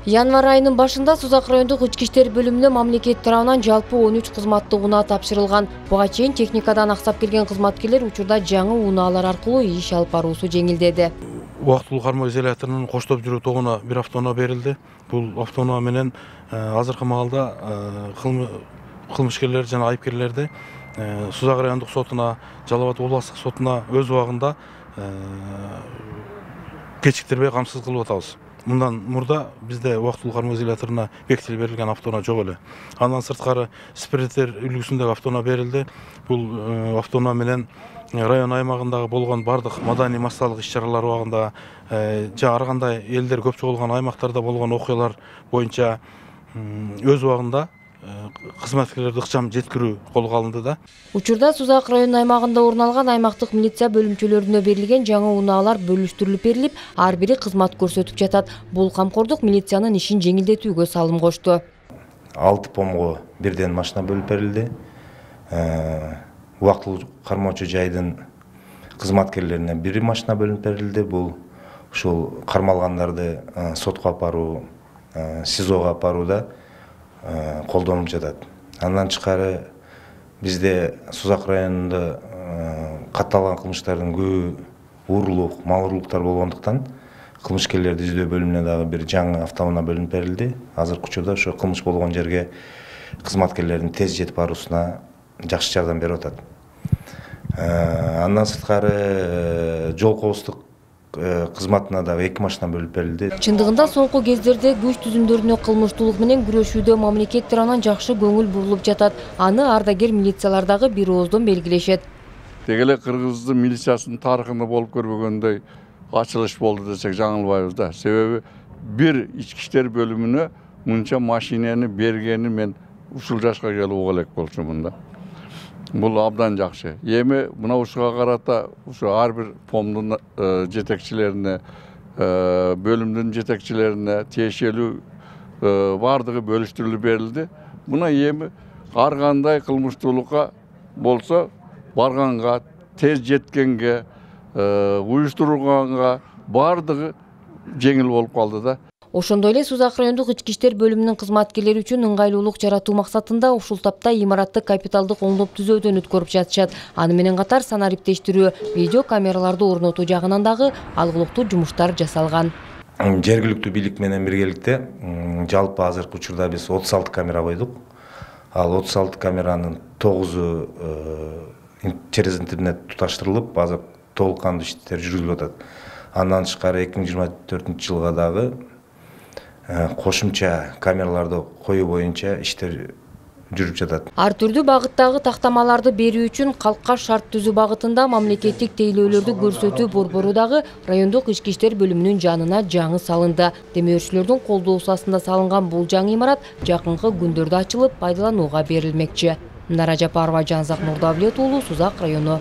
Январь айынын башында Сузак райондук ички иштер бөлүмүнө мамлекет тарабынан жалпы 13 кызматтык унаа тапшырылган. Буга чейин техникадан аксап келген кызматкерлер учурда жаңы унаалар аркылуу иш алып баруусу жеңилдеди. Убактылуу кармоо изоляторунун коштоп жүрүү тогуна бир автоунаа берилди. Бул автоунаа менен азыркы маалда кылмышкерлер жана айыпкерлерди Сузак райондук сотуна, Жалал Абад областык сотуна өз убагында кечиктирбей камсыз кылып атабыз. Мындан мурда бизде убактылуу кармоо изоляторуна бекитилип берилген автоунаа жок эле. Андан сырткары спирттер үлгүсүндөгү автоунаа берилди. Бул автоунаа менен район аймагындагы болгон бардык маданий массалык иш-чаралар убагында жана ар кандай элдер көп чогулган аймактарда болгон окуялар боюнча өз убагында кызматкерлерди ыкчам жеткирүү колго алынды да. Учурда Сузак район аймагында орун алган аймактык милиция бөлүмчөлөрүнө берилген жаңы унаалар бөлүштүрүлүп берилип, ар бири кызмат көрсөтүп жатат. Бул камкордук милициянын ишин жеңилдетүүгө салым кошту. 6 помго бирден машина бөлүп берилди. Убактылуу кармоочу жайдын кызматкерлерине бир машина бөлүнүп берилди. Бул ушул кармалгандарды сотко апаруу, СИЗОго апарууда колдонулуп жатат. Андан тышкары бизде Сузак районунда катталган кылмыштардын көбү уурулук, мал уурулуктар болгондуктан кылмышкерлерди издөө бөлүмүнө дагы бир жаңы автоунаа бөлүнүп берилди. Азыркы учурда ошо кылмыш болгон жерге кызматкерлердин тез жетип баруусуна жакшы жардам берип атат. Андан сырткары жол коопсуздук кызматына дагы 2 машина бөлүп берилди. Чындыгында соңку кездерде күч түзүмдөрүнө кылмыштуулук менен күрөшүүдө мамлекет тарабынан жакшы көңүл бурулуп жатат. Аны ардагер милициялар дагы бир ооздон белгилешет. Деги эле Кыргыздын милициясынын тарыхында болуп көрбөгөндөй ачылыш болду десек жаңылбайбыз да. Себеби бир ички иштер бөлүмүнө мынча машинени бергени мен ушул жашка келип уга элек болчумун да. Бул абдан жакшы. Эми мына ушуга карата ушу ар бир помдун жетекчилерине, бөлүмдүн жетекчилерине тиешелүү бардыгы бөлүштүрүлүп берилди. Мына эми ар кандай кылмыштуулукка болсо барганга, тез жеткенге, уюштурганга бардыгы жеңил болуп калды да. Ошондой эле Сузак райондук ички иштер бөлүмүнүн кызматкерлери үчүн ыңгайлуулук жаратуу максатында ушул тапта имаратты капиталдык оңдоп түзөөдөн өткөрүп жатышат. Аны менен катар санариптештирүү, видео камераларды орнотуу жагынан дагы алгылыктуу жумуштар жасалган. Жергиликтүү бийлик менен биргеликте жалпы азыркы учурда биз 36 камера койдук. Ал 36 камеранын 9-у через интернет туташтырылып, азыр толук кандуу иштер жүргүзүлүп атат. Андан тышкары 2024-жылга дагы кошумча камераларды коюу боюнча иштер жүрүп жатат. Ар түрдүү багыттагы тактамаларды берүү үчүн калкка шарт түзүү багытында мамлекеттик тейлөөлөрдү көрсөтүү борбору дагы райондук ички иштер бөлүмүнүн жанына жаңы салынды. Демөөрчүлөрдүн колдоосу астында салынган бул жаңы имарат жакынкы күндөрдө ачылып пайдаланууга берилмекчи. Нара Жапарова, Жанзак Нурдавлет уулу, Сузак району.